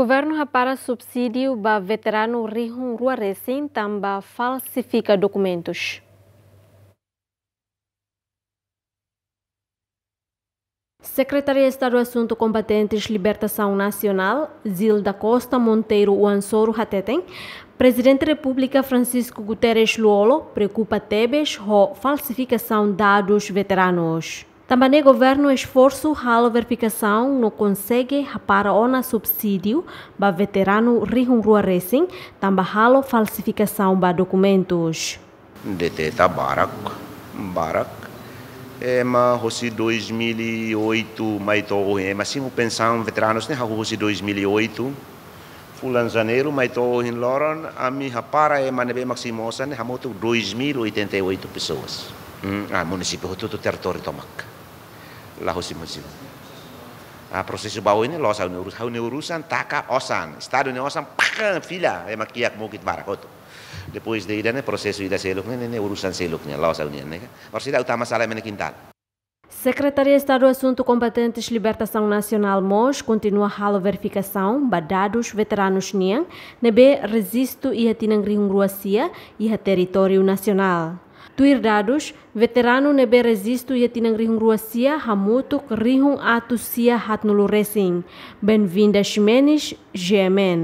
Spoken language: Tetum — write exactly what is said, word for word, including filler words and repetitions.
Governu hapara subsídiu ba veteranu rihun rua resin tanba falsifika dokumentus. Sekretária Estadu Asuntu Kombatentes Libertasaun Nasionál, Zilda Costa Monteiro Uansoro hateten, Prezidente Repúblika Francisco Guterres Lú-Olo preokupa tebes ho falsifikasaun dadus veteranus. Tanba ne'e governu esforsu halo verifikasaun no konsege hapara ona subsídiu ba veteranu rihun rua resin tanba halo falsifikasaun ba dokumentus. Deteta barak, barak. Ema hosi dois mil e oito mai to'o ohin, ema simu pensaun veteranus ne'e hahú hosi dois mil e oito. Fulan Janeiru mai to'o ohin loron, ami hapara ema ne'ebé mak simu osan ne'e hamutuk dois mil oitenta e oito pessoas. Hmm, ah, munisípiu hotu-hotu territóriu tomak. La hosi munisípiu. Ah, prosesu ba oin ne'e loos, ha'u-nia urus-, ha'u-nia urusan taka osan, Estadu nia osan, pak, fila, ema kiak mukit barak hotu. Depois de ida-ne'e prosesu ida seluk ne'e, ne'e, ne'e urusan seluk ne'e, loos ha'u-nian ne'e. Orsida utama sala ema nia kintal. Sekretária Estadu Asuntu Kombatentes Libertasaun Nasionál mós kontinua halo verifikasaun ba dadus veteranus nian ne'ebé rejistu iha tinan rihun rua sia iha territóriu nasionál. Tuir dadus, veteranu ne'ebé rejistu iha tinan rihun rua sia hamutuk rihun atus sia haatnulu resin. Benvinda Ximenes, G M N.